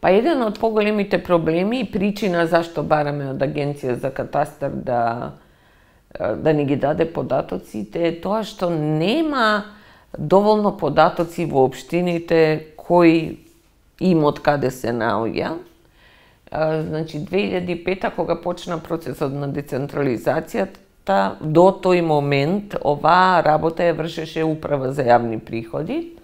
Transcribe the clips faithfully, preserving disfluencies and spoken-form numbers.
Па еден од поголемите проблеми и причина зашто бараме од Агенција за катастар да да ни ги даде податоците е тоа што нема доволно податоци во општините кој имот каде се наоѓа. Значи, две илјади и пета, кога почна процесот на децентрализацијата, до тој момент оваа работа ја вршеше Управа за јавни приходи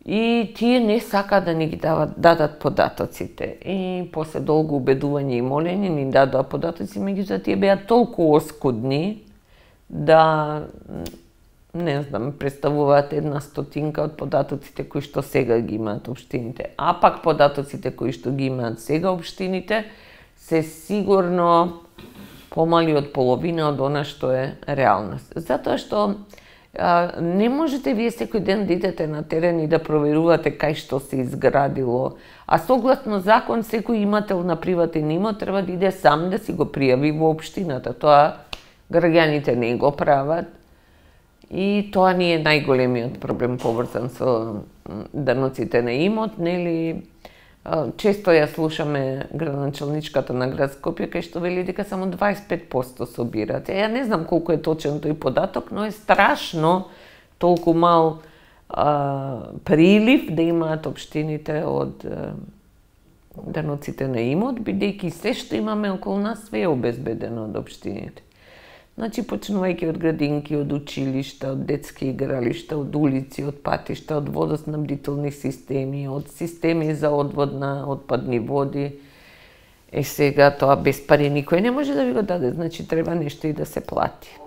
и тие не сака да ни ги дават, дадат податоците. И после долго убедување и молење ни дадоа податоци, меѓутоа тие беа толку оскудни да не знам, представуваат една стотинка од податоците кои што сега ги имаат општините. А пак податоците кои што ги имаат сега општините се сигурно помали од половина од она што е реалност. Затоа што а, не можете вие секој ден да идете на терен и да проверувате кај што се изградило, а согласно закон секој имател на приватен имот треба да иде сам да си го пријави во општината. Тоа граѓаните не го прават. И тоа ни е најголемиот проблем поврзан со даноците на имот, нели? Често ја слушаме градоначалничката на град Скопје кај што вели дека само дваесет и пет проценти собираат. Ја не знам колку е точен тој податок, но е страшно толку мал а, прилив да имаат општините од а, даноците на имот, бидејќи се што имаме околу нас све е обезбедено од општините. Значи, почнувајќи од градинки, од училишта, од детски игралишта, од улици, од патишта, од водоснабдителни системи, од системи за одвод на отпадни води. Е сега тоа без пари никој не може да ви го даде, значи треба нешто и да се плати.